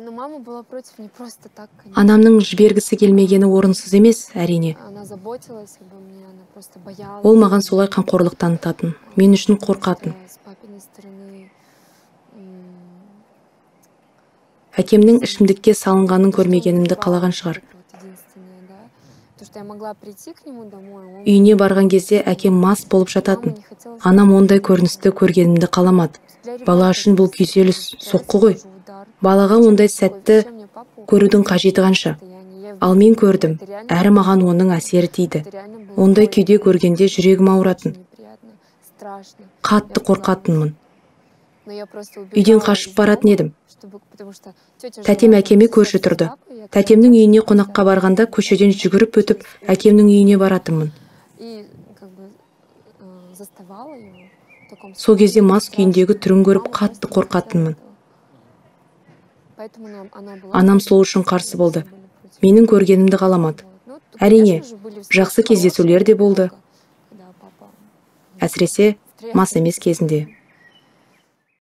Но мама была против не просто так, конечно. Анамның жібергісі келмегені орынсыз емес, әрине. Она заботилась обо мне, она просто боялась. Ол маған солай қамқорлық танытатын, мен үшін қорқатын. С папиной стороны Әкемнің ішімдікке салынғанын көрмегенімді қалаған шығар. Үйіне барған кезде әкем мас болып жататын. Анам ондай көріністі көргенімді қаламады. Бала үшін бұл күйзеліс, соққы ғой. Балаға ондай сәтті көрудің қажеті қанша. Ал мен көрдім, әрі маған оның әсері тиді. Ондай күйде көргенде жүрегім ауыратын. Қатты қорқатынмын. Үйден қашып баратын едім. Тәтем әкеме көрші тұрды. Тәтемнің үйіне қонаққа барғанда көшеден жүгіріп өтіп, әкемнің үйіне баратынмын. Сол кезде мас күйіндегі түрін көріп қатты қорқатынмын. Анам сол үшін қарсы болды. Менің көргенімді қаламады. Әрине, жақсы кездесулер де болды. Әсіресе мас емес кезінде.